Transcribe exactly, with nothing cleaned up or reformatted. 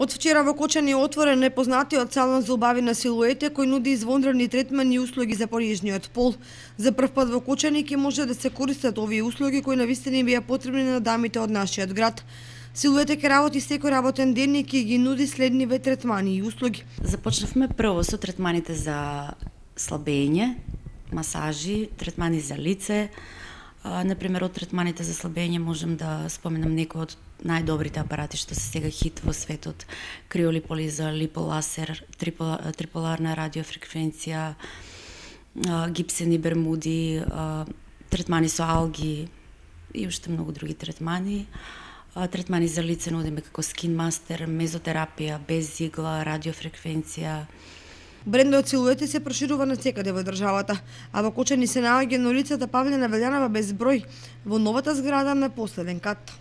Од вчера во Кочани е отворен непознатиот салон за убави на силуете кој нуди извонредни третмани и услуги за порижниот пол. За прв пат во Кочани ќе може да се користат овие услуги кои навистина им беа потребни на дамите од нашиот град. Силуете ќе работи секој работен ден и ќе ги нуди следниве третмани и услуги. Започнавме прво со третманите за слабење, масажи, третмани за лице. Например, од третманите за слабење можем да споменам некои од најдобрите апарати што се сега хит во светот: криолиполиза, липоласер, триполарна радиофреквенција, гипсени бермуди, третмани со алги и уште многу други третмани. Третмани за лице нудиме како скин мастер, мезотерапија, без игла, радиофреквенција. Брендот Силуете се проширува навсекаде во државата, а во Кочани се наоѓа на улицата Павлина Велјанова без број, во новата зграда на последен кат.